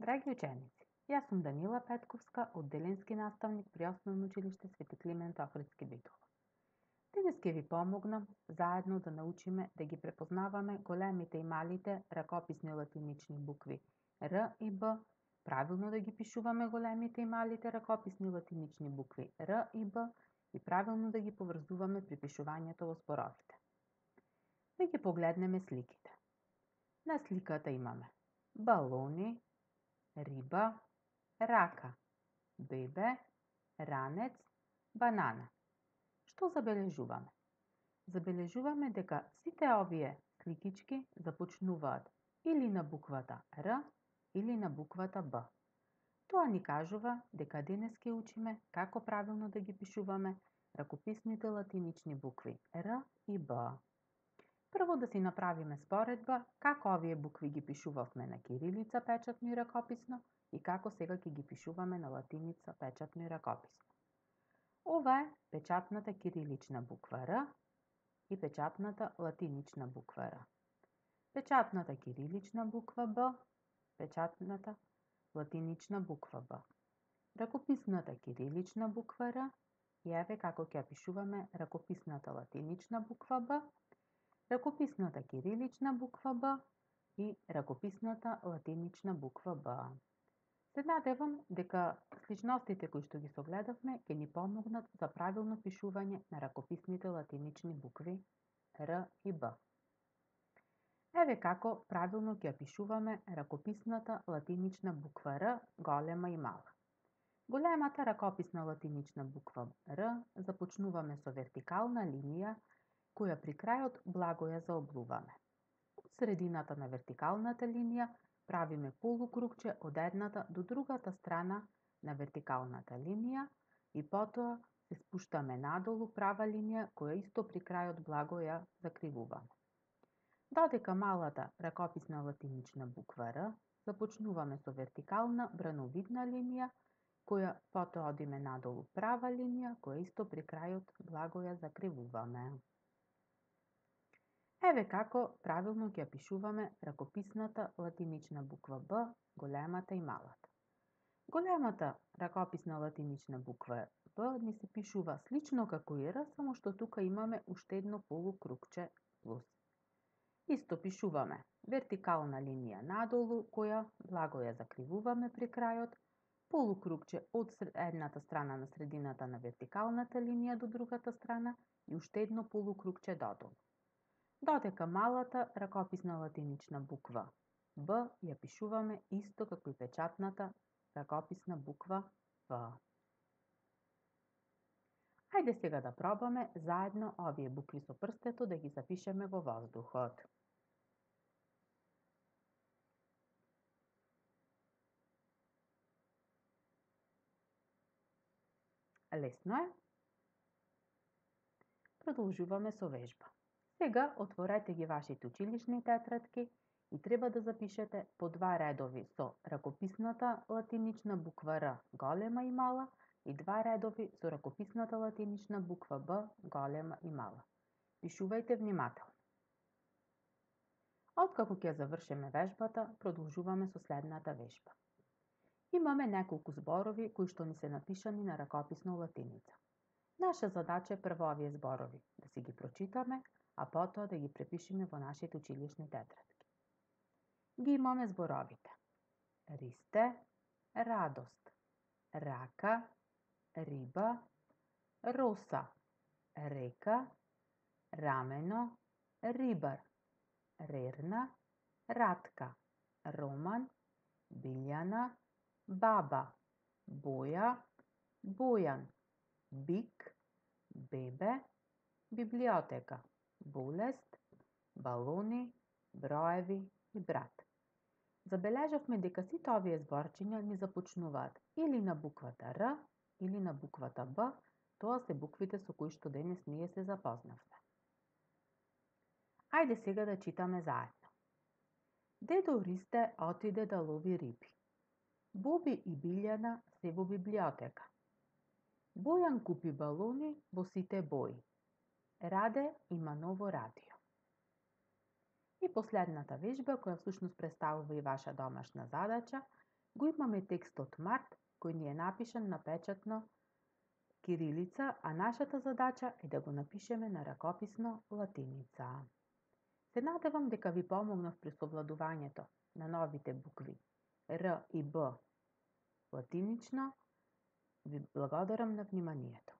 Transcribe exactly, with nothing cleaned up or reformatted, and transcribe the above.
Драги ученици, јас сум Данила Петковска, одделенски наставник при Основно училиште Свети Климент Охридски Битола. Денес ќе ви помогнам заедно да научиме да ги препознаваме големите и малите ракописни латинични букви Р и Б, правилно да ги пишуваме големите и малите ракописни латинични букви Р и Б и правилно да ги поврзуваме при пишувањето во зборовите. Да ги погледнеме сликите. На сликата имаме балони, риба, рака, бебе, ранец, банана. Што забележуваме? Забележуваме дека сите овие сликички започнуваат или на буквата Р или на буквата Б. Тоа ни кажува дека денес ќе учиме како правилно да ги пишуваме ракописните латинични букви Р и Б. Прво да си направиме споредба како овие букви ги пишувавме на кирилица печатно и ракописно и како сега ќе ги пишуваме на латиница печатно и ракописно. Ова е печатната кирилична буква Р и печатната латинична буква Р. Печатната кирилична буква Б, печатната латинична буква Б. Ракописната кирилична буква Р и еве како ќе пишуваме ракописната латинична буква Б, ракописната кирилична буква Б и ракописната латинична буква Б. Се надевам дека сличностите кои што ги согледавме ќе ни помогнат за правилно пишување на ракописните латинични букви Р и Б. Еве како правилно ќе пишуваме ракописната латинична буква Р, голема и мала. Големата ракописна латинична буква Р започнуваме со вертикална линија која при крајот благо ја заоблуваме. Од средината на вертикалната линија правиме полукругче од едната до другата страна на вертикалната линија и потоа се спуштаме надолу права линија која исто при крајот благо ја закривуваме. Додека малата ракописна латинична буква Р започнуваме со вертикална брановидна линија која потоа одиме надолу права линија која исто при крајот благо ја закривуваме. Еве како правилно ќе пишуваме ракописната латинична буква Б, големата и малата. Големата ракописна латинична буква Б ни се пишува слично како и Р, само што тука имаме уште едно полукругче плюс. Исто пишуваме вертикална линија надолу, која благо ја закривуваме при крајот, полукругче од едната страна на средината на вертикалната линија до другата страна и уште едно полукругче додолу. Додека малата ракописна латинична буква Б ја пишуваме исто како и печатната ракописна буква В. Хајде сега да пробаме заедно овие букви со прстето да ги запишеме во воздухот. Лесно е. Продолжуваме со вежба. Сега отворете ги вашите училишни тетрадки и треба да запишете по два редови со ракописната латинична буква Р, голема и мала, и два редови со ракописната латинична буква Б, голема и мала. Пишувајте внимателно. Откако ќе завршиме вежбата, продолжуваме со следната вежба. Имаме неколку зборови кои што ни се напишани на ракописна латиница. Наша задача е прво овие зборови да си ги прочитаме, а потоа да ги препишеме во нашите училишни тетрадки. Ги имаме зборовите: ристе, радост, рака, риба, роса, река, рамено, рибар, рерна, ратка, роман, билјана, баба, боја, бојан, бик, бебе, библиотека, болест, балони, броеви и брат. Забележавме дека сите овие зборчиња ни започнуваат или на буквата Р или на буквата Б, тоа се буквите со кои што денес ние се запознавме. Ајде сега да читаме заедно. Дедо Ристе отиде да лови риби. Боби и Билјана се во библиотека. Бојан купи балони во сите бои. Раде има ново радио. И последната вежба, која всушност представува и ваша домашна задача, Го имаме текстот Март, кој ни е напишан на печатно кирилица, а нашата задача е да го напишеме на ракописно латиница. Се надевам дека ви помогнав при совладувањето на новите букви Р и Б латинично. Ви благодарам на вниманието.